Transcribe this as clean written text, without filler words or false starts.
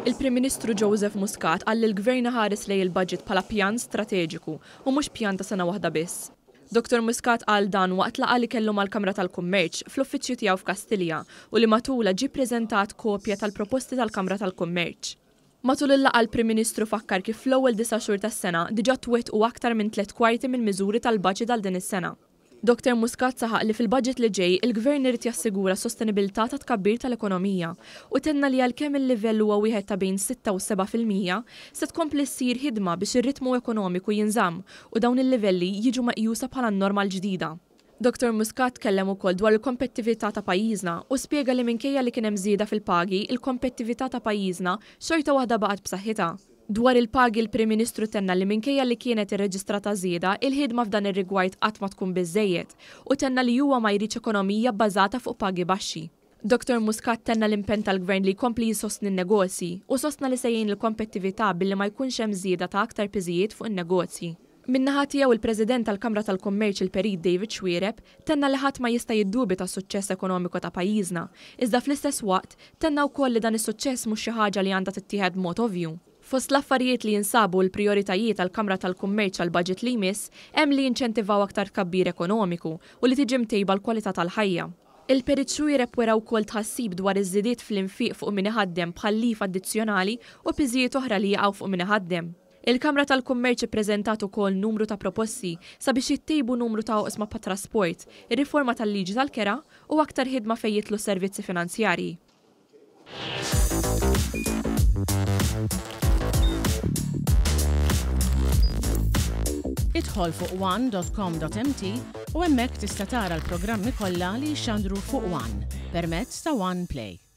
Il-Prim Ministru Joseph Muscat qal li l-Gvern iħares lejn il-budget bħala pjan strateġiku u mhux pjan ta' sena waħda biss. Dottor Muscat qal dan waqt laqgħa li kellu mal-Kamra tal-Kummerċ fl-uffiċċju tiegħu f'Kastilja u li matulha ġie ppreżentat kopja tal-proposti tal-Kamra tal-Kummerċ. Matul il-laqgħa l-Prim Ministru fakkar kif fl-ewwel disa' xhur tas-sena diġà twettqu aktar minn tlett kwarti mill-miżuri tal-budget għal din is-sena. Dottor Muscat saħaq li fil-budget li ġej il-Gvern irid jassigura s-sostenibilità tat-tkabbir tal-ekonomija u tenna li għalkemm il-livell huwa wieħed ta' bejn sitta u 7%, se tkompli ssir ħidma biex ir-ritmu ekonomiku jinżamm u dawn il-livelli jiġu meqjusa bħala n-norma l-ġdida. Dottor Muscat tkellem ukoll dwar il-kompettività ta' pajjiżna u spjega li minkejja li kien hemm żieda fil-pagi, il-kompettività ta' pajjiżna xorta waħda baqgħet b'saħħitha. Dwar il-pagi l-Prim Ministru tenna li minkejja li kienet irreġistrata żieda, il-ħidma f'dan ir-rigward qatt ma tkun biżżejjed u tenna li huwa ma jridx ekonomija bbażata fuq pagi baxxi. Dottor Muscat tenna l-impenn tal-Gvern li jkompli jsostni n-negozji u sostna li se jgħin l-kompettività billi ma jkunx hemm żieda ta' aktar piżijiet fuq in-negozji. Min-naħa tiegħu il-President tal-Kamra tal-Kummerċ il-Perit David Xuereb tenna li ħadd ma jista' jiddubita s-suċċess ekonomiku ta' pajjiżna, iżda fl-istess waqt tenna wkoll li dan is-suċċess mhux xi ħaġa li għandha tittieħed b'mod ovvju. Fost l-affarijiet li jinsabu l-prijoritajiet għall-Kamra tal-Kummerċ għall-budget li jmiss hemm li jinċentivaw aktar tkabbir ekonomiku u li tiġi mtejba l-kwalità tal-ħajja. Il-Perit Xuereb wera wkoll tħassib dwar iż-żidiet fl-infiq fuq min iħaddem bħal leave addizzjonali u piżijiet oħra li jaqgħu fuq min iħaddem. Il-Kamra tal-Kummerċ ippreżentat ukoll numru ta' proposti sabiex jittejbu numru ta' oqsma bħat-trasport, ir-riforma tal-liġi tal-kera u aktar ħidma fejn jidħlu s-servizzi finanzjarji. Idħol fuq one.com.mt u hemmhekk tista' tara l-programmi kollha li jixxandru fuq One permezz ta' One Play.